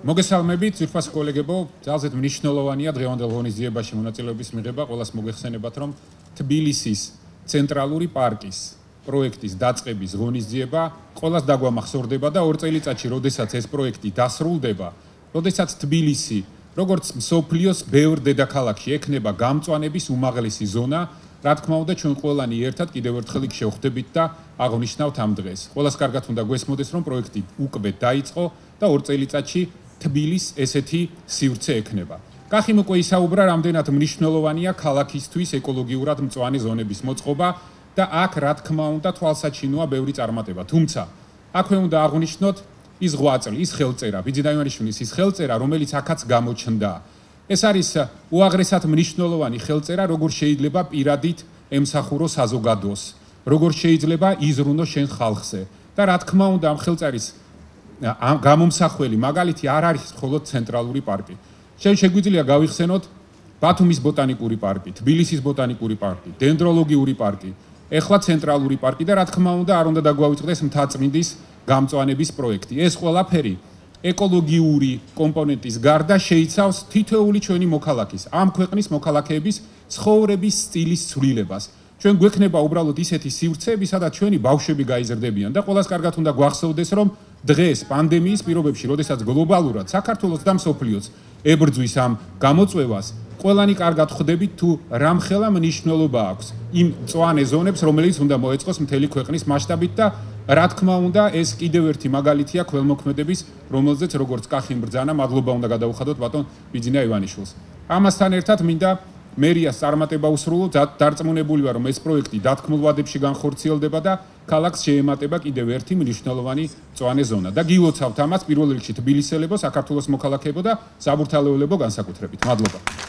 მოგესალმებით, ძვირფას კოლეგებო, ძალზედ მნიშვნელოვანია დღევანდელ ღონისძიებაში მონაწილეობის მიღება. ყველას მოგეხსენებათ, რომ თბილისის ცენტრალური პარკის პროექტის დაწყების ღონისძიება ყველას დაგვამახსოვრდება და 2 წელიწადში, როდესაც ეს პროექტი დასრულდება, როდესაც თბილისი, როგორც მსოფლიოს ბევრ დედაქალაქში ექნება გამწვანების უმაღლესი ზონა, რა თქმა უნდა, ჩვენ ყველანი ერთად კიდევ ერთხელ იქ შევხვდებით და აღნიშნავთ ამ დღეს. ყველას კარგად უნდა გვესმოდეს, რომ პროექტი უკვე დაიწყო და 2 წელიწადში თბილის ესეთი სივრცე ექნება. კახიმ უკვე ისაუბრა, რამდენად მნიშვნელოვანია ქალაქისთვის ეკოლოგიურად მწვანე ზონების მოწყობა და აქ რა თქმა უნდა თვალსაჩინოა ბევრი წარმატება. თუმცა აქვე უნდა აღვნიშნოთ ის ღვაწლი, ის ხელწერა, ბიძინა ივანიშვილის ის ხელწერა, რომელიც აქაც გამოჩნდა. ეს არის უაღრესად მნიშვნელოვანი ხელწერა, როგორ შეიძლება პირადით ემსახურო საზოგადოს, როგორ შეიძლება იზრუნოს შენ ხალხზე. და რა თქმა უნდა ამ ხელწერის გამომსახველი მაგალითი არ არის მხოლოდ ცენტრალური პარკი. შეგვიძლია გავიხსენოთ ბათუმის ბოტანიკური პარკი, თბილისის ბოტანიკური პარკი, დენდროლოგიური პარკი, ეხლა ცენტრალური პარკი და რა თქმა უნდა არ უნდა დაგვავიწყდეს მთაწმინდის გამწვანების პროექტი. ეს ყველაფერი ეკოლოგიური კომპონენტის გარდა შეიცავს თითოეული ჩვენი მოქალაქის, ამ ქვეყნის მოქალაქეების ცხოვრების სტილის ცვლილებას. ჩვენ გვექნება უბრალოდ ისეთი სივრცეები, სადაც ჩვენი ბავშვები გაიზრდებიან და ყველას კარგად უნდა გვახსოვდეს, რომ დღეს პანდემიის პირობებში, როდესაც გლობალურად საქართველოს და მსოფლიოს ებრძვის ამ გამოწვევას, ყველანი კარგად ხვდებით თუ რამხელა მნიშვნელობა აქვს იმ მწვანე ზონებს, რომელიც უნდა მოეწყოს მთელი ქვეყნის მასშტაბით და რა თქმა უნდა, ეს კიდევ ერთი მაგალითია ქველმოქმედების, რომელზეც როგორც კახიმ ბრძანა, მადლობა უნდა გადაუხადოთ ბატონ ბიძინა ივანიშვილს. ამასთან ერთად მინდა მერიას წარმატება უსრულო, დარწმუნებული ვარ, რომ ეს პროექტი დათქმულ ვადებში განხორციელდება და ქალაქს შეემატება კიდევ ერთი მნიშვნელოვანი მწვანე ზონა. და გილოცავთ ამას პირველ რიგში თბილისელებო, საქართველოს მოქალაქეებო და საბურთალოელებო განსაკუთრებით. მადლობა.